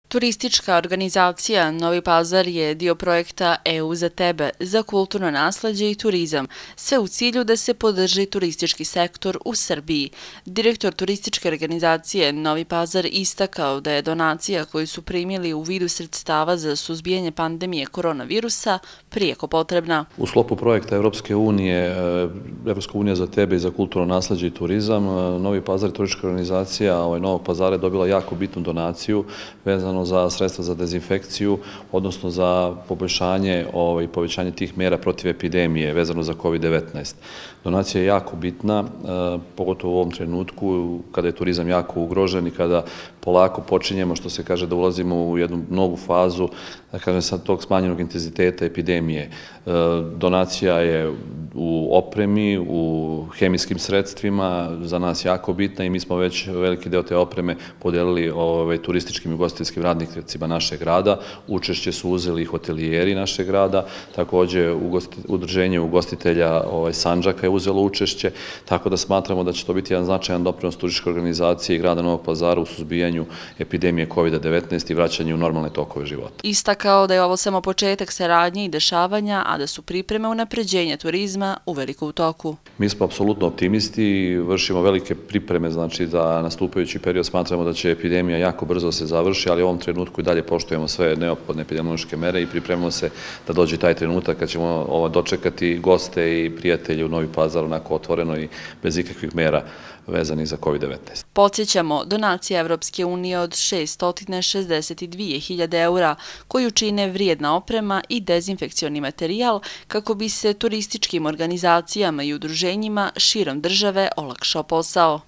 Turistička organizacija Novi Pazar je dio projekta EU za tebe, za kulturno nasleđe i turizam, sve u cilju da se podrži turistički sektor u Srbiji. Direktor turističke organizacije Novi Pazar istakao da je donacija koju su primili u vidu sredstava za suzbijanje pandemije koronavirusa prijeko potrebna. U sklopu projekta Evropske unije za tebe i za kulturno nasleđe i turizam, Novi Pazar i turistička organizacija Novog Pazara je dobila jako bitnu donaciju vezano za sredstva za dezinfekciju, odnosno za poboljšanje i povećanje tih mera protiv epidemije vezano za COVID-19. Donacija je jako bitna, pogotovo u ovom trenutku kada je turizam jako ugrožen i kada polako počinjemo, što se kaže, da ulazimo u jednu novu fazu, da kažem sad, tog smanjenog intenziteta epidemije. Donacija je u opremi, u hemijskim sredstvima, za nas jako bitna i mi smo već veliki deo te opreme podelili turističkim i ugostiteljskim radnicima našeg grada. Učešće su uzeli i hotelijeri našeg grada, takođe udruženje ugostitelja Sandžaka je uzelo učešće, tako da smatramo da će to biti jedan značajan doprinos turističke organizacije i grada Novog Pazara u suzbijanju epidemije COVID-19 i vraćanju u normalne tokove života. Istakao da je ovo samo početak saradnje i dešavanja, a da su pripreme unapređenja turizma uveliko u toku. Mi smo apsolutno optimisti i vršimo velike pripreme, znači za nastupajući period smatramo da će epidemija jako brzo se završi, ali u ovom trenutku i dalje poštujemo sve neophodne epidemiološke mere i pripremamo se da dođe taj trenutak kad ćemo dočekati goste i prijatelje u Novi Pazar onako otvoreno i bez ikakvih mera vezanih za COVID-19. Podsjećamo, donacija Evropske unije od 662.000 eura, koju čine vrijedna oprema i dezinfekcioni materijal kako bi se turističkim organizacijama i udruženjima širom države olakšao posao.